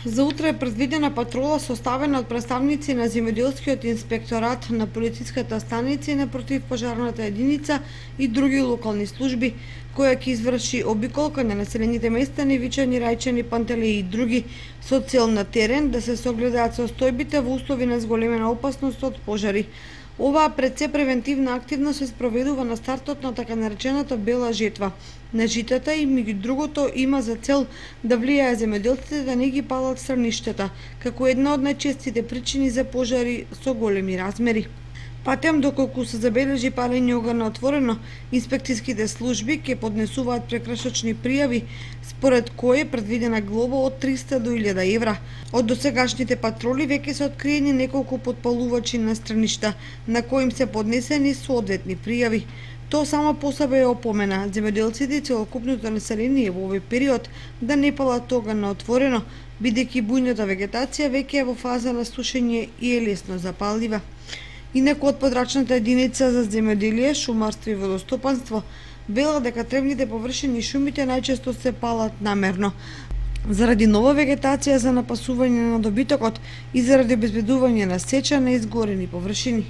За утре е предвидена патрола составена од представници на земјоделскиот инспекторат, на полициската станица и на противпожарната единица и други локални служби, која ќе изврши обиколка на населените места Невичани, Рајчани, Пантелеи и други со цел на терен да се согледаат состојбите во услови на зголемена опасност од пожари. Оваа пред се превентивна активност се спроведува на стартот на така наречената бела жетва на житата и меѓу другото има за цел да влијае земјоделците да не ги палат страништата, како една од најчестите причини за пожари со големи размери. Патем доколку се забележи палење оган на отворено, инспекцијските служби ќе поднесуваат прекршочни пријави, според кои е предвидена глоба од 300 до 1000 евра. Од досегашните патроли веќе се откриени неколку подпалувачи на страништа, на кои им се поднесени соодветни пријави. Тоа само по себе е опомена земјоделците и целокупното население во овој период да не палат оган на отворено, бидејќи бујната вегетација веќе е во фаза на сушење и е лесно запалива. Инаку од подрачната единица за земјоделие, шумарство и водостопанство вела дека тревните површини и шумите најчесто се палат намерно, заради нова вегетација за напасување на добитокот и заради обезбедување на сеча на изгорени површини.